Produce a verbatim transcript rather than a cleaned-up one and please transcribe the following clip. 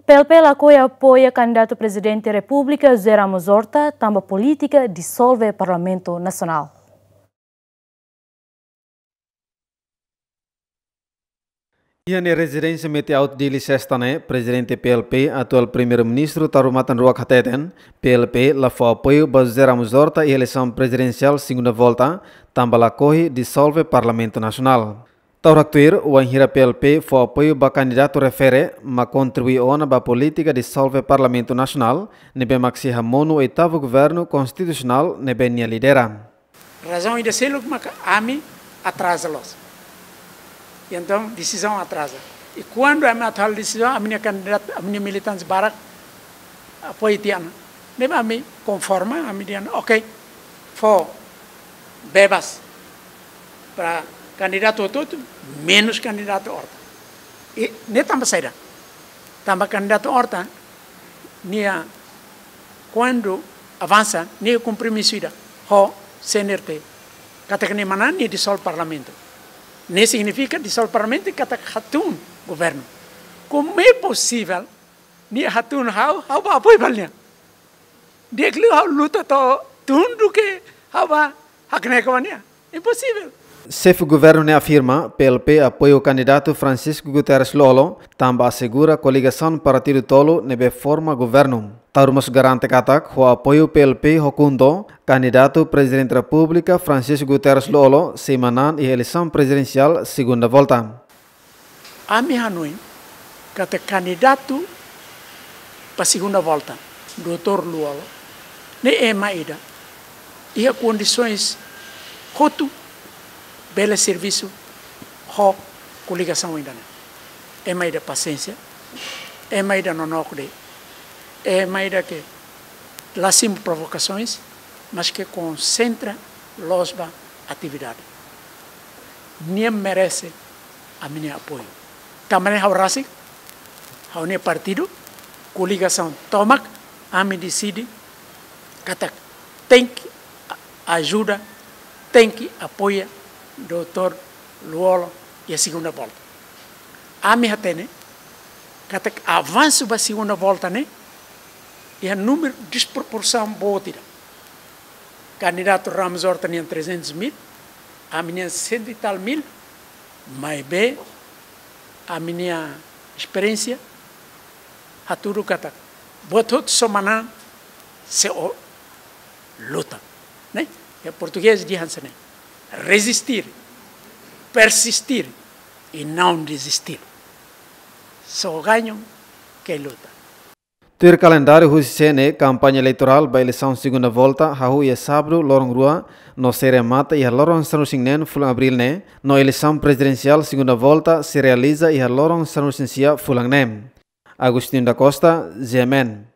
P L P lakohi apoia kandidatu Prezidente Repúblika José Ramos Horta tanba polítika disolve Parlamentu Nasionál. Iha nia rezidénsia Mete Alto, Dili, Sesta ne'e, Prezidente P L P, atuál Primeiru-Ministru Taur Matan Ruak hateten, P L P la fó apoiu ba José Ramos Horta iha eleisaun prezidensiál segunda volta, tanba lakohi disolve Parlamentu Nasionál. Taur haktuir, wainhira P L P fó apoiu ba kandidatu refere, mak kontribui ona ba polítika disolve Parlamentu Nasionál, ne'ebé mak sei hamonu oitavu governu konstitusionál ne'ebé nia lidera. Razaun ida seluk maka ami atraza loos. Entaun, desizaun atraza. I kuandu ami atu halo desizaun, ami-nia kandidatu, ami-nia militante barak apoia tiha ona. Ne'ebé ami konforma, ami dehan, ok, fó bebas para kandidatu hotu-hotu, menus kandidatu Horta. I ne'e tanba saida? Tanba kandidatu Horta, nia kuandu avansa, nia kompromisu ida ho C N R T, katak nia manán nia disolve Parlamentu. Ne'e signifika disolve Parlamentu katak hatún governu. Como é possível nia hatún ha'u, ha'u bá apoia ba nia? Di'ak liu ha'u luta to'o tun duké ha'u bá hakne'ak ba nia. Imposivel. Xefe governu ne'e afirma, P L P apoia kandidatu Francisco Guterres Lú-Olo, tanba asegura koligasaun partidu tolu ne'ebé forma governu. Taur mós garante katak, ho apoiu P L P ho KHUNTO, kandidatu Prezidente Repúblika Francisco Guterres Lú-Olo sei manán iha eleisaun prezidensiál segunda volta. Ami hanoin katak kandidatu ba segunda volta, doutór Lú-Olo, ne'e ema ida iha kondisoens hotu bele servisu ho koligasaun ida-ne'e. Ema ida pasiénsia, ema ida nonook de'it, ema ida ke la simu provokasoens, mas ke konsentra loos ba atividade. Nia merese ami-nia apoiu. Tanba ne'e ha'u rasik, ha'u-nia partidu, koligasaun tomak, ami deside katak tenke a-, ajuda, tenke apoia doutór Lú-Olo iha segunda volta. Ami hatene katak avansu ba segunda volta ne'e iha númeru disproporsaun boot ida. Kandidatu Ramos Horta nian trezentos mil, ami-nian cento e tal mil, maibé ami-nia esperiénsia hatudu katak buat hotu só manán se o luta, ne'e? Iha portugés dehan hanesan ne'e: resistir, persistir e não desistir. Só ganha quem luta. Tuir kalendáriu husi C N E, kampaña eleitorál ba eleisaun segunda volta hahú iha sábadu loron rua no sei remata iha loron sanulu-resin-neen fulan Abríl ne'e, no eleisaun prezidensiál segunda volta sei realiza iha loron sanulu-resin-sia fulan ne'e. Agostinho da Costa, G M N.